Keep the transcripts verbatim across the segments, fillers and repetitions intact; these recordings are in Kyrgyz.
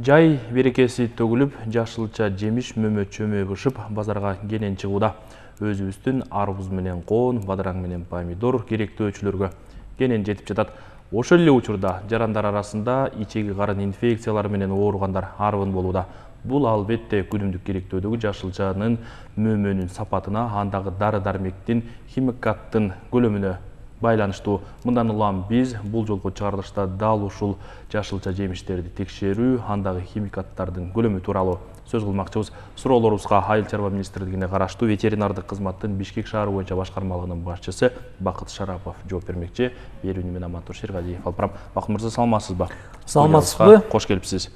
Жай берекеси төгүлүп, жашылча жемиш мөмө чөмө бышып, базарга кенен чыгууда. Өзүбүздүн арбуз менен коон, бадыраң менен помидор керектөөчүлөргө кенен жетип жатат. Ошол эле учурда жарандар арасында ичеги карын инфекциялары менен ооругандар арбын болууда. Бул албетте күнүмдүк керектөөдөгү жашылчанын мөмөнүн сапатына, андагы дары-дармектин, химикаттын көлөмүнө байланыштуу. Мындан улам биз бул жолку чыгарылышта дал ушул жашылча жемиштерди текшерүү, андагы химикаттардын көлөмү тууралуу сөз кылмакчыбыз. Суроолорубузга Айыл чарба министрлигине караштуу ветеринардык кызматтын Бишкек шаары боюнча башкармалыгынын башчысы Бакыт Шарапов жооп бермекчи. Берүүнү мен Амантур Шергалиев алып барам. Бакыт мырза, саламатсызбы? Саламатсызбы? Кош келипсиз.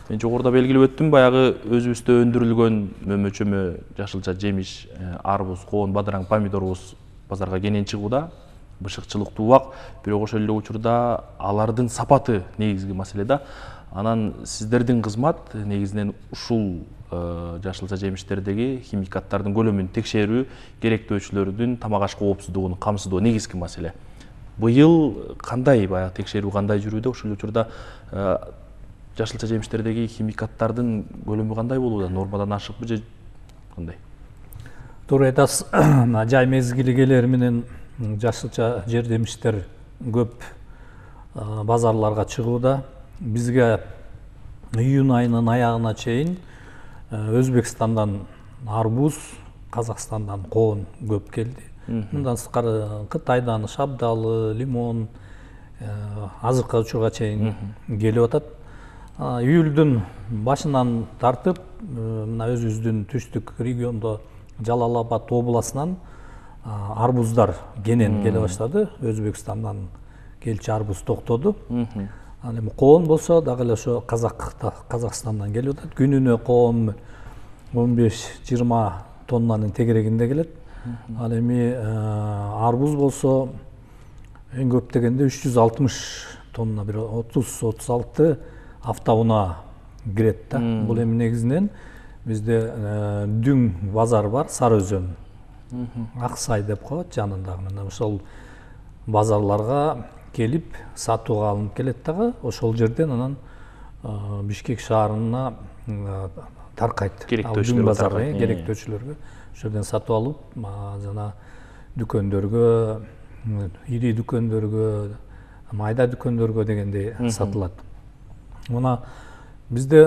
Мен жогоруда белгилеп өттүм, баягы өзүбүздө өндүрүлгөн мөмө-чөмө жашылча жемиш, арбуз, коон, бадыраң, помидорубуз базарга кенен чыгууда. Бышыкчылык туубак, бирок ошол эле учурда алардын сапаты негизги маселе да. Анан сиздердин кызмат негизинен ушул жашылча жемиштердеги химикаттардын көлөмүн текшерүү, керектөөчүлөрдүн тамак аш коопсуздугун камсыздоо негизги маселе. Быйыл кандай баягы текшерүү кандай жүрүүдө? Ошол учурда жашылча жемиштердеги химикаттардын көлөмү кандай болууда? Нормадан ашыкпы же кандай? Туура айтасыз. Жай мезгили келери менен жашылча жемиштер көп базарларга чыгууда. Бизге июнь айынын аягына чейин Өзбекстандан арбуз, Казакстандан коон көп келди. Мындан сырткары Кытайдан шабдалы, лимон, азыркы учурга чейин келип атат. Июлдун башынан тартып, мына өзүбүздүн түштүк региондо Жалал Абад областынан арбуздар кенен келе баштады. Өзбекстандан келчү арбуз токтоду. Ал эми коон болсо дагы эле ошо Казакстандан келип атат. Күнүнө коон он беш жыйырма тоннанын тегерегинде келет. Ал эми арбуз болсо эң көп дегенде үч жүз алтымыш тонна, бир отуз отуз алты автоунаа кирет да. Бул эми негизинен бизде Дүң базар бар, Сары Өзөн, Аксай деп коет жанындагы. Мына ошол базарларга келип сатууга алынып келет дагы. Ошол жерден анан Бишкек шаарына таркайт. Дүң базары керектөөчүлөргө ошол жерден сатып алып, жана дүкөндөргө, ири дүкөндөргө, майда дүкөндөргө дегендей сатылат. Мына бизде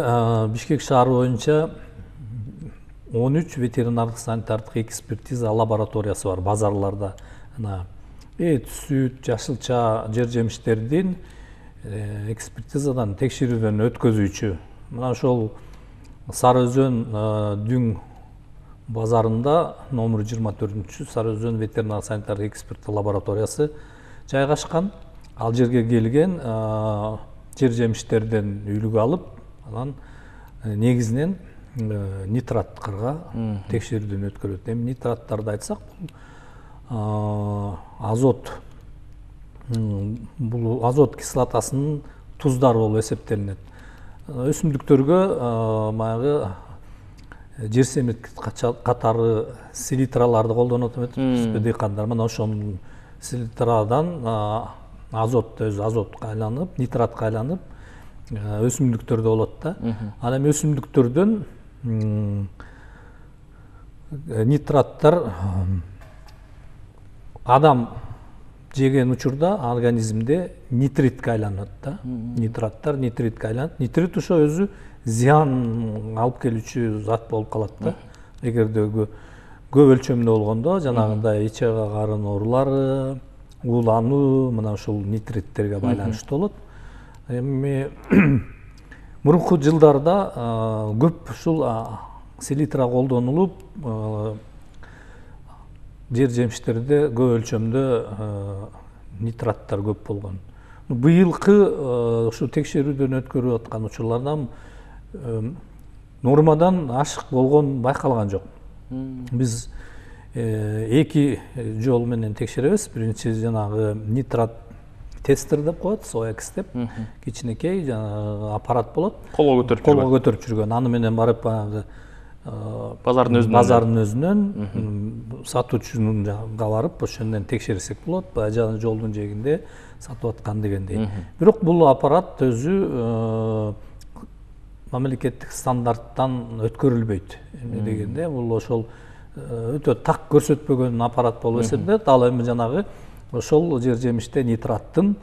Бишкек шаары боюнча он үч ветеринардык санитардык экспертиза лабораториясы бар базарларда. Эт, сүт, жашылча жер жемиштердин экспертизадан, текшерүүдөн өткөзүүчү. Мына ошол Сары Өзөн Дүң базарында номер жыйырма төртүнчү Сары Өзөн ветеринар санитардык эксперттик лабораториясы жайгашкан. Ал жерге келген жер жемиштерден үлгү алып, анан негизинен нитраттарга текшерүүдөн өткөрөт. Эми нитраттарды айтсак, азот, бул азот кислотасынын туздары болуп эсептелинет. Өсүмдүктөргө баягы жер семирткич катары селитраларды колдонот эмеспи дыйкандар. Мына ошонун селитрадан азот өзү азотко айланып, нитратка айланып өсүмдүктөрдө болот да. Ал эми өсүмдүктөрдөн нитраттар адам жеген учурда организмде нитритке айланат да. Нитраттар нитритке айланат. Нитрит ошо өзү зыян алып келүүчү зат болуп калат да. Эгерде көп өлчөмдө болгондо жанагындай ичеги карын оорулары, уулануу мына ушул нитриттерге байланыштуу болот. Эми мурунку жылдарда көп ушул селитра колдонулуп, жер жемиштерде көп өлчөмдө нитраттар көп болгон. Быйылкы ушу текшерүүдөн өткөрүп аткан учурлардан нормадан ашык болгон байкалган жок. Биз эки жол менен текшеребиз. Биринчи жанагы нитрат тестер деп коет, соекс деп, кичинекей жанагы аппарат болот. Колго көтөрүп колго көтөрүп жүргөн. Аны менен барып баягы базардын өзүнөн базардын өзүнөн сатуучунун жагына барып, ошондон текшерсек болот. Баягы жолдун жээгинде сатып аткан дегендей. Бирок бул аппарат өзү мамлекеттик стандарттан өткөрүлбөйт. Эмне дегенде бул ошол өтө так көрсөтпөгөн аппарат болуп эсептелет. Ал эми жанагы ошол жер жемиште нитраттын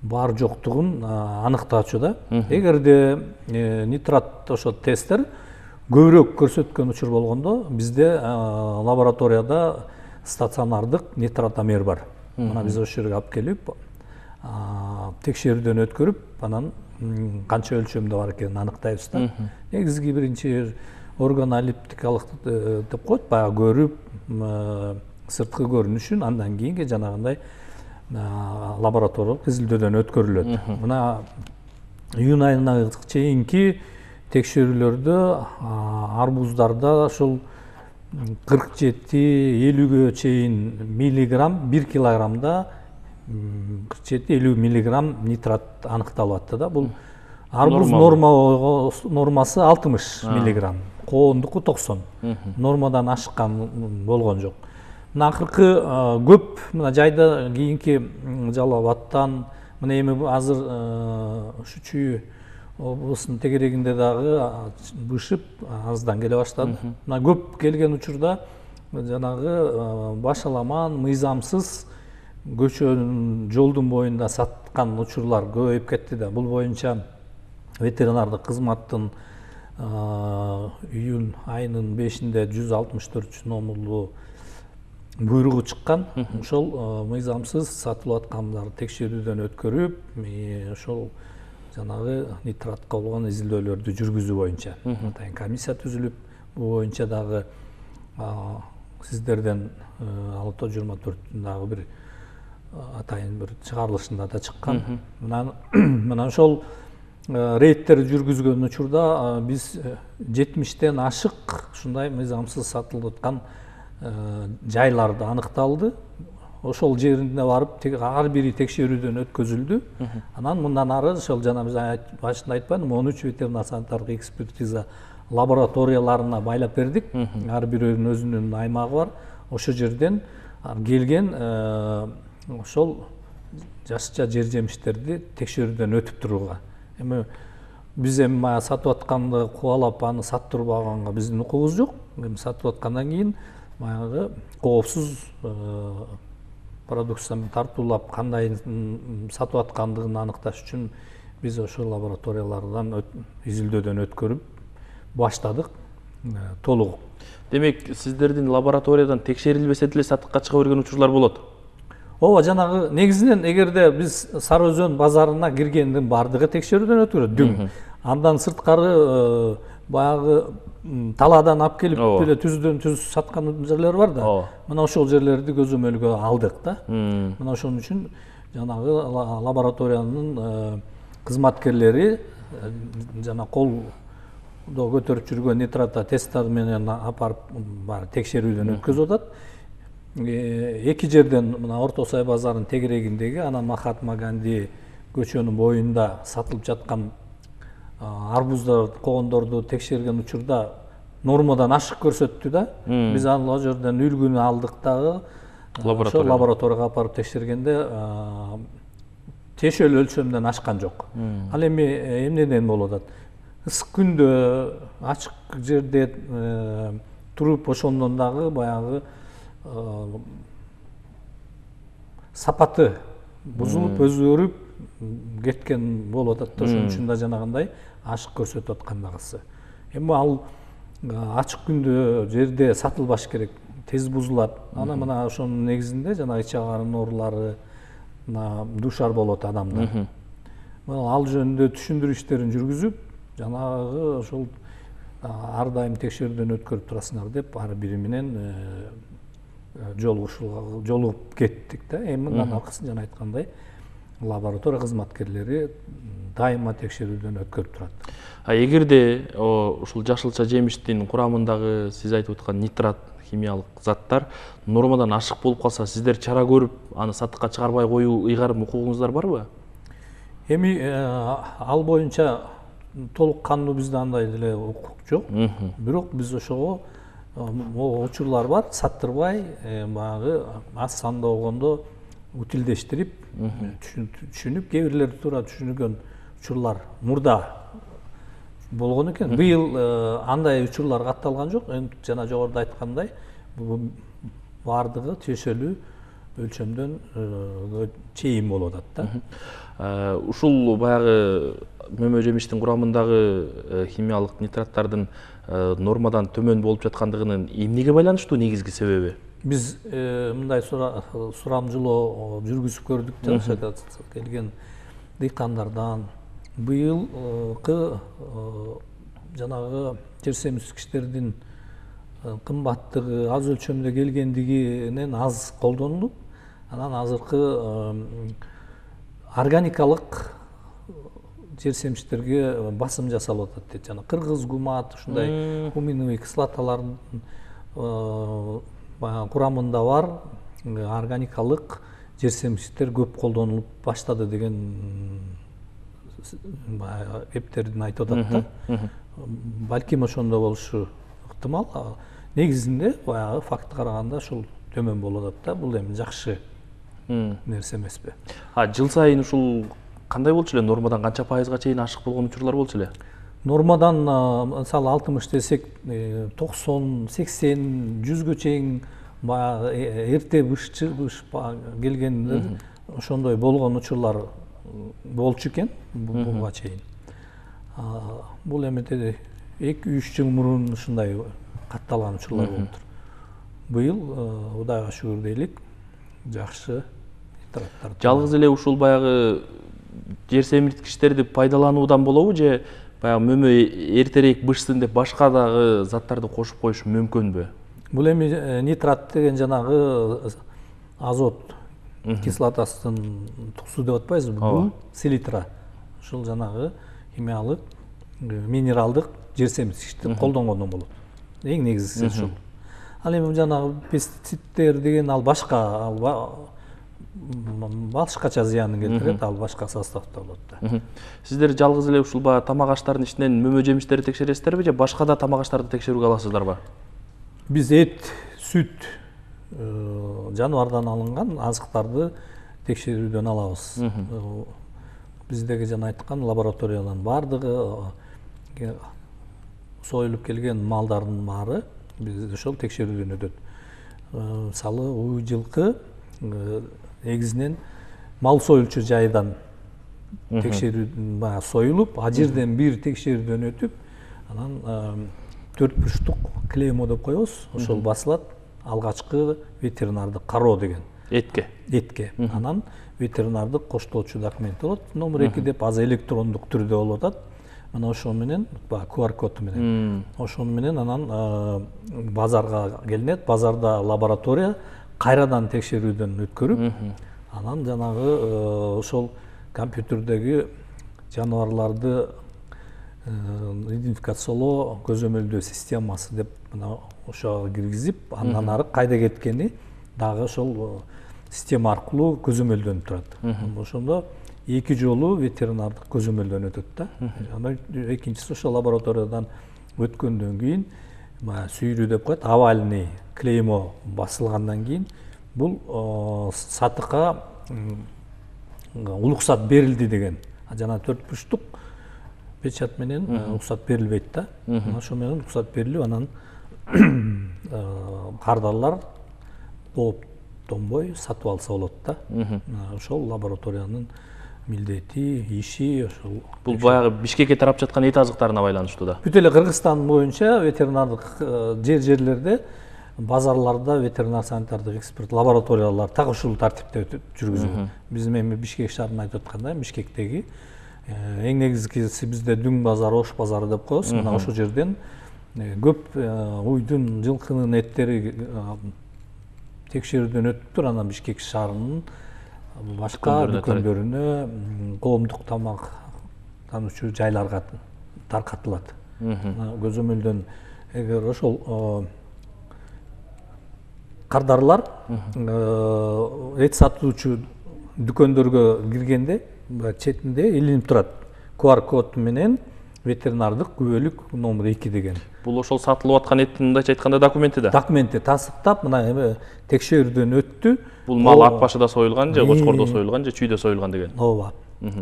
бар жоктугун аныктаачу да. Эгерде нитрат ошо тесттер көбүрөөк көрсөткөн учур болгондо бизде лабораторияда стационардык нитратомер бар. Мына биз ошол жерге алып келип текшерүүдөн өткөрүп, анан канча өлчөмдө бар экенин аныктайбыз да. Негизги биринчи органолептикалык деп коет, баягы көрүп, сырткы көрүнүшүн, андан кийинки жанагындай лабораториялык изилдөөдөн өткөрүлөт. Мына июнь айына чейинки текшерүүлөрдө арбуздарда ошол кырк жети элүүгө чейин миллиграмм бир килограммда кырк жети элүү миллиграмм нитрат аныкталып атты да. Бул арбуз норма нормасы алтымыш миллиграмм, коондуку токсон. Нормадан ашкан болгон жок. Мына акыркы көп мына жайда кийинки Жалал Абадтан, мына эми азыр ушу Чүй облусунун тегерегинде дагы бышып аздан келе баштады. Мына көп келген учурда жанагы башаламан, мыйзамсыз көчөнүн жолдун боюнда саткан учурлар көбөйүп кетти да. Бул боюнча ветеринардык кызматтын июнь айынын бешинде жүз алтымыш төртүнчү номерлуу буйругу чыккан. Ошол мыйзамсыз сатылып аткандарды текшерүүдөн өткөрүп, ошол жанагы нитратка болгон изилдөөлөрдү жүргүзүү боюнча атайын комиссия түзүлүп, бул боюнча дагы сиздерден алты жыйырма төрттүн дагы бир атайын бир чыгарылышында да чыккан. Мына ошол рейдтерди жүргүзгөн учурда биз жетимиштен ашык ушундай мыйзамсыз сатылып аткан жайларды аныкталды. Ошол жерине барып ар бири текшерүүдөн өткөзүлдү. Анан мындан ары ошол жана биз башында айтпадымбы, он үч ветеринар санитардык экспертиза лабораторияларына байлап бердик. Ар бирөөнүн өзүнүн аймагы бар. Ошол жерден келген ошол жашча жер жемиштерди текшерүүдөн өтүп турууга. Эми биз эми мага сатып атканды кубалап аны саттырбаганга биздин укугубуз жок. Эми сатып аткандан кийин баягы коопсуз продукцияны тартуулап кандай сатып аткандыгын аныкташ үчүн биз ошол лабораториялардан изилдөөдөн өткөрүп баштадык толугу. Демек, сиздердин лабораториядан текшерилбесе деле сатыкка чыга берген учурлар болот? Ооба, жанагы негизинен эгерде биз Сары Өзөн базарына киргендин бардыгы текшерүүдөн өткөрөт дүң. Андан сырткары баягы талаадан алып келип эле түздөн түз саткан жерлер бар да. Мына ошол жерлерди көзөмөлгө алдык да. Мына ошон үчүн жанагы лабораториянын кызматкерлери жана колдо көтөрүп жүргөн нитрата тесттер менен алып барып баары текшерүүдөн өткөзүп атат. Эки жерден мына Орто Сай базарынын тегерегиндеги, анан Махатма Ганди көчөнүн боюнда сатылып жаткан арбуздар, коондорду текшерген учурда нормадан ашык көрсөттү да. Биз ал жерден үлгүнү алдык дагы. Ошол лабораторияга алып барып текшергенде тиешелүү өлчөмдөн ашкан жок. Ал эми эмнеден болуп атат? Ысык күндө, ачык жерде туруп ошондон дагы баягы сапаты бузулуп, өзгөрүп кеткен болуп атат. Ошон үчүн да жанагындай ашык көрсөтүп аткан дагысы. Эми ал ачык күндө жерде сатылбаш керек, тез бузулат. Ана мына ошонун негизинде жана ич агарынын оорулары душар болот адамдар. Ал жөнүндө түшүндүрүү иштерин жүргүзүп, жанагы ошол ар дайым текшерүүдөн өткөрүп турасыңар деп ар бири менен жолугуп кеттик да. Эми мындан аркасын жана айткандай лаборатория кызматкерлери дайыма текшерүүдөн өткөрүп турат. А эгерде ушул жашылча жемиштин курамындагы сиз айтып аткан нитрат химиялык заттар нормадан ашык болуп калса, сиздер чара көрүп, аны сатыкка чыгарбай коюу ыйгарым укугуңуздар барбы? Эми ал боюнча толук кандуу бизде андай деле укук жок. Бирок биз ошого учурлар бар, саттырбай, баягы аз санда болгондо утилдештирип, түшүнүп, кээ бирлери туура түшүнүгөн учурлар мурда болгон экен. Быйыл андай учурлар катталган жок. Жана жогоруда айткандай, баардыгы тиешелүү өлчөмдөн чейин болуп атат да. Ушул баягы мөмө жемиштин курамындагы химиялык нитраттардын нормадан төмөн болуп жаткандыгынын эмнеге байланыштуу негизги себеби? Биз мындай сурамжылоо жүргүзүп көрдүк да, келген дыйкандардан быйылкы жанагы жер семирткичтердин кымбаттыгы, аз өлчөмдө келгендигинен аз колдонулуп, анан азыркы органикалык жер семирткичтерге басым жасалып атат дейт. Жана кыргыз гумат, ушундай хуминовый кислоталардын курамында бар органикалык жер семирткичтер көп колдонулуп баштады деген эптердин айтып атат да. Балким ошондо болушу ыктымал. Негизинде баягы фактка караганда ушул төмөн болуп атат да. Бул эми жакшы нерсе эмеспи? А жыл сайын ушул кандай болчу эле? Нормадан канча пайызга чейин ашык болгон учурлар болчу эле? Нормадан мисалы алтымыш десек, токсон, сексен, жүзгө чейин баягы эрте бышчы келгендер ошондой болгон учурлар болчу экен буга чейин. Бул эми эки үч жыл мурун ушундай катталган учурлар болуптур. Быйыл Кудайга шүгүр дейлик, жакшы нитраттар. Жалгыз эле ушул баягы жер семирткичтерди пайдалануудан болобу же баягы мөмө эртерээк бышсын деп башка дагы заттарды кошуп коюш мүмкүнбү? Бул эми нитрат деген жанагы азот кислотасынын туксу деп атпайбызбы? Бул селитра. Ушул жанагы химиялык, минералдык жер семирткичти колдонгондон болот. Эң негизгиси ушул. Ал эми жанагы пестициддер деген ал башка, ал башкача зыянын келтирет, ал башка составда болот да. Сиздер жалгыз эле ушул баягы тамак аштардын ичинен мөмө жемиштерди текшересиздерби же башка да тамак аштарды текшерүүгө аласыздарбы? Биз эт, сүт, жаныбардан алынган азыктарды текшерүүдөн алабыз. Биздеги жана айткан лабораториялардын баардыгы союлуп келген малдардын баары биз ошол текшерүүдөн өтөт. Мисалы, уй жылкы негизинен мал союлчу жайдан текшерүү баягы союлуп, а жерден бир текшерүүдөн өтүп, анан төрт бурчтук клеймо деп коебуз, ошол басылат. Алгачкы ветеринардык кароо деген. Этке. Этке. Анан ветеринардык коштоочу документ болот. Номер эки деп азыр электрондук түрдө болуп атат. Мына ошол менен, баягы ку ар код менен. Ошол менен анан базарга келинет. Базарда лаборатория кайрадан текшерүүдөн өткөрүп, анан жанагы ошол компьютердеги жаныбарларды идентификациялоо көзөмөлдөө системасы деп мына ошого киргизип, андан ары кайда кеткени дагы ошол система аркылуу көзөмөлдөнүп турат. Ошондо эки жолу ветеринардык көзөмөлдөн өтөт да. Анан экинчиси ошол лабораториядан өткөндөн кийин баягы сүйрүү деп коет, овальный клеймо басылгандан кийин бул сатыкка уруксат берилди деген. Жана төрт бурчтук печать менен уруксат берилбейт да. Ошол менен уруксат берилип, анан кардарлар кооптонбой сатып алса болот да. Ошол лабораториянын милдети, иши ошол. Бул баягы Бишкекке тарап жаткан эт азыктарына байланыштуу да. Бүт эле Кыргызстан боюнча ветеринардык жер-жерлерде, базарларда ветеринар санитардык эксперт лабораториялар так ушул тартипте жүргүзүлөт. Биз эми Бишкек шаарына айтып аткандай, Бишкектеги эң негизгиси бизде Дүң базары, Ош базары деп коебуз. Мына ошол жерден көп уйдун, жылкынын эттери текшерүүдөн өтүптүр. Анан Бишкек шаарынын башка дүкөндөрүнө, коомдук тамак тануучу жайларга таркатылат. Көзөмөлдөн эгер ошол кардарлар эт сатуучу дүкөндөргө киргенде четинде илинип турат. ку ар код менен ветеринардык күбөлүк номер эки деген. Бул ошол сатылып аткан эттин мындайча айтканда документи да. Документи тасыктап, мына эми текшерүүдөн өттү. Бул мал ат башыда союлган же кочкордо союлган же чүйдө союлган деген. Ооба.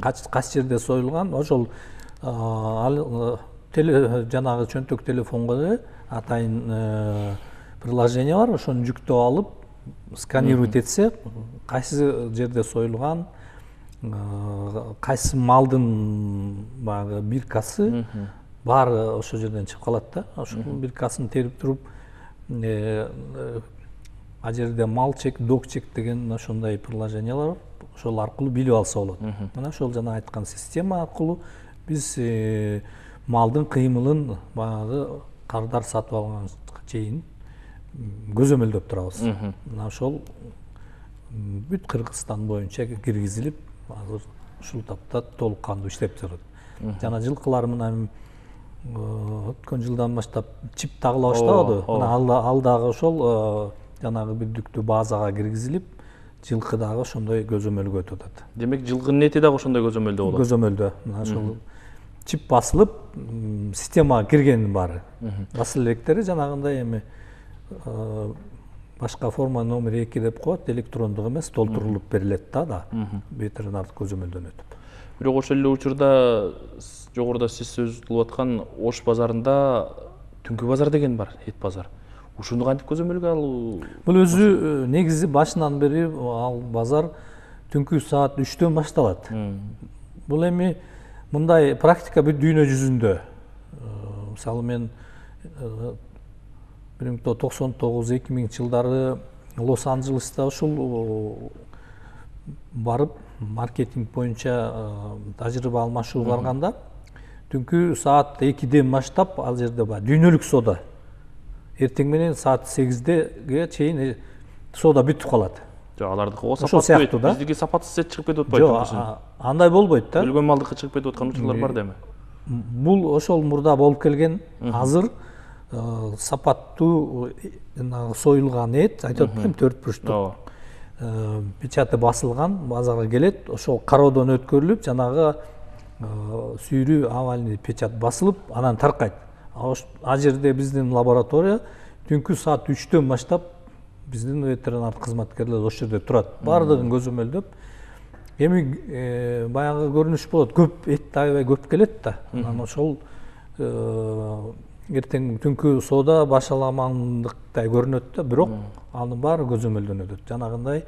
Кайсы жерде союлган, ошол жанагы чөнтөк телефонго атайын приложение бар, ошону жүктөп алып сканировать этсе, кайсы жерде союлган, кайсы малдын баягы биркасы баары ошол жерден чыгып калат да. Ошол биркасын терип туруп, а жерде мал чек, дог чек деген ошондой приложениялар бар. Ошол аркылуу билип алса болот. Мына ошол жана айткан система аркылуу биз малдын кыймылын баягы кардар сатып алганга чейин көзөмөлдөп турабыз. Мына ошол бүт Кыргызстан боюнча киргизилип, азыр ушул тапта толук кандуу иштеп жатат. Жана жылкылар мына өткөн жылдан баштап чип тагыла баштабады. Мына ал дагы ошол жанагы бүдүктүү базага киргизилип, жылкы дагы ошондой көзөмөлгө өтүп атат. Демек жылкынын эти дагы ошондой көзөмөлдө болот. Көзөмөлдө. Мына ошол чип басылып, системага киргенин баары. Басыл электери жанагындай эми башка форма номер эки деп коет, электрондук эмес, толтурулуп берилет да, ветеринардык көзөмөлдөн өтүп. Бирок ошол эле учурда жогоруда сиз сөз кылып аткан Ош базарында түнкү базар деген бар, эт базар. Ушуну кантип көзөмөлгө алуу? Бул өзү негизи башынан бери ал базар түнкү саат үчтөн башталат. Бул эми мындай практика бүт дүйнө жүзүндө. Мисалы мен бир миң тогуз жүз токсон тогуз эки миңинчи жылдары Лос-Анджелеста ушул барып маркетинг боюнча тажрыйба алмашуу барганда түнкү саат экиден баштап ал жерде бар дүйнөлүк соода эртең менен саат сегиздеге чейин соода бүтүп калат. Жок, алардыкы сапаттуу да. Биздики сапатсыз эт чыгып кетип атпайбы? Жок, андай болбойт да. Өлгөн малдыкы чыгып кетип аткан учурлар бар деми? Бул ошол мурда болуп келген. Азыр сапаттуу союлган эт, айтып атпайм, төрт бурчтук печаты басылган базарга келет. Ошол кароодон өткөрүлүп, жанагы сүйрүү авальный печат басылып, анан таркайт. А жерде биздин лаборатория түнкү саат үчтөн баштап биздин ветеринар кызматкерлер ошол жерде турат. Бардыгын көзөмөлдөп, эми баягы көрүнүш болот. Көп эт аябай көп келет да. Анан ошол эртең түнкү соода башаламандыктай көрүнөт да, бирок анын баары көзөмөлдөн өтөт. Жанагындай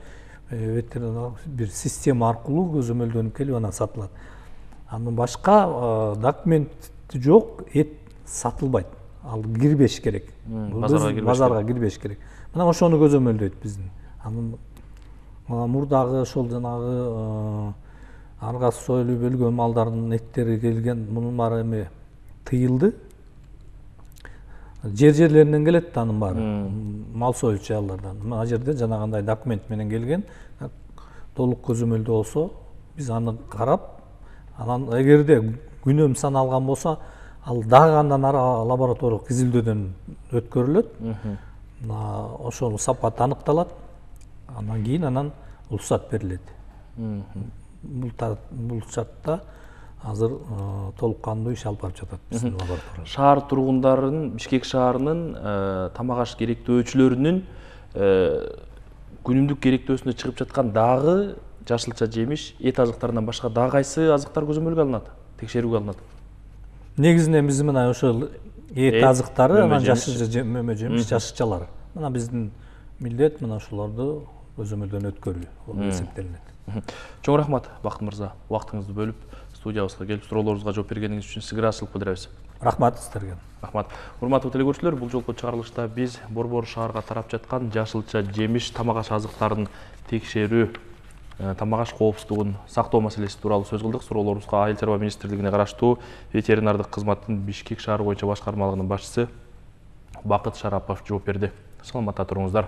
ветеринар бир система аркылуу көзөмөлдөнүп келип анан сатылат. Анын башка документи жок эт сатылбайт. Ал кирбеш керек. Базарга кирбеш керек. Мына ошону көзөмөлдөйт биздин. Анын мурдагы ошол жанагы арга союлуп өлгөн малдардын эттери келген, мунун баары эми тыйылды. Жер жерлеринен келет да анын баары. Мал союлчу аялдардан. Мына жерде жанагындай документ менен келген, толук көзөмөлдө болсо, биз аны карап, анан эгерде күнөм саналган болсо, ал дагы андан ары лабораториялык изилдөөдөн өткөрүлөт. Ошол сапат аныкталат. Андан кийин анан уруксат берилет. Бул шартта азыр толук кандуу иш алып барып жатат биздин лаборатория. Шаар тургундарынын, Бишкек шаарынын тамак аш керектөөчүлөрүнүн күнүмдүк керектөөсүнө чыгып жаткан дагы жашылча жемиш, эт азыктарынан башка дагы кайсы азыктар көзөмөлгө алынат, текшерүүгө алынат? Негизинен биз мына ошол эт азыктары, анан жашылча мөмө жемиш, жашылчалар. Мына биздин милдет мына ошолорду көзөмөлдөн өткөрүү болуп эсептелинет. Чоң рахмат, Бакыт мырза. Убактыңызды бөлүп, студиябызга келип, суроолорубузга жооп бергениңиз үчүн сизге ыраазычылык билдиребиз. Рахмат сиздерге. Рахмат. Урматтуу телекөрүүчүлөр, бул жолку чыгарылышта биз Борбор шаарга тарап жаткан жашылча жемиш, тамак аш азыктарын текшерүү, тамак аш коопсуздугун сактоо маселеси тууралуу сөз кылдык. Суроолорубузга Айыл чарба министрлигине караштуу ветеринардык кызматтын Бишкек шаары боюнча башкармалыгынын башчысы Бакыт Шарапов жооп берди. Саламатта туруңуздар.